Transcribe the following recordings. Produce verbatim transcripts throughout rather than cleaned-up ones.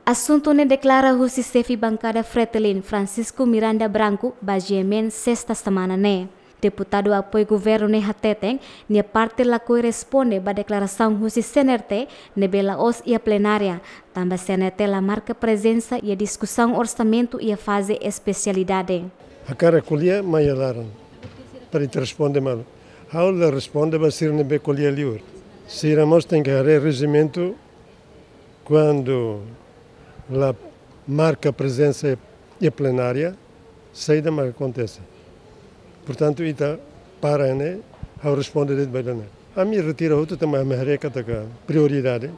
Asuntu ne'e deklara husi xefe bankada Fretilin, Francisco Miranda Branco, ba G M N sesta semana ne'e. Deputadu apoiu governu ne'e hateten, nia parte lakohi responde ba deklarasaun husi C N R T ne'ebé la'ós iha plenária, tanba C N R T la marka prezensa iha diskusaun orsamentu iha faze espesialidade. Hakarak ko'alia mai iha laran, para ita responde malu. Ha'u la responde ba sira ne'ebé ko'alia liur. Sira mós tenke haree rejimentu, kuandu la marka prezensa iha plenária, saida mak akontese. Portantu, ita para ne'e, ha'u responde de'it ba ida-ne'e. Ami retira hotu tanba ami haree katak prioridade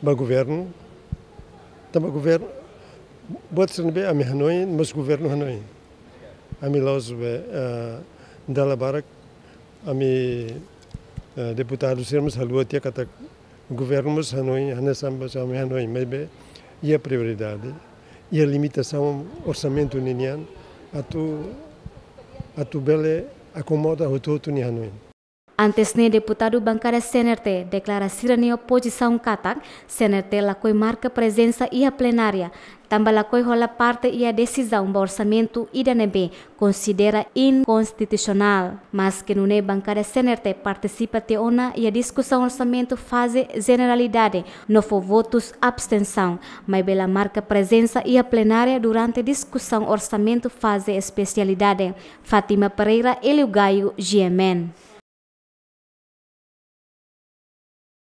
ba governu, tanba governu, buat sira ne'ebé ami hanoin, mós governu hanoin. Ami la'ós be, eh, dala barak, ami, eh, deputadu sira mós haluha tiha katak governu mós hanoin, hanesan ba ami hanoin, maibé iha prioridade, iha limitasaun orsamentu ninian, atu, atu bele akomoda hotu-hotu nia hanoin. Antes ne'e deputadu bankada C N R T deklara sira-nia opozisaun katak C N R T lakohi marka prezensa iha plenária, tanba lakohi hola parte iha desizaun ba orsamentu ida ne'ebé konsidera inkonstitusionál. Maske nune'e bankada C N R T partisipa tiha ona iha diskusaun orsamentu faze jeneralidade no fó votus abstensaun, maibé la marka prezensa iha plenária durante diskusaun orsamentu faze espesialidade. Fátima Pereira, Hélio Gaio, G M N.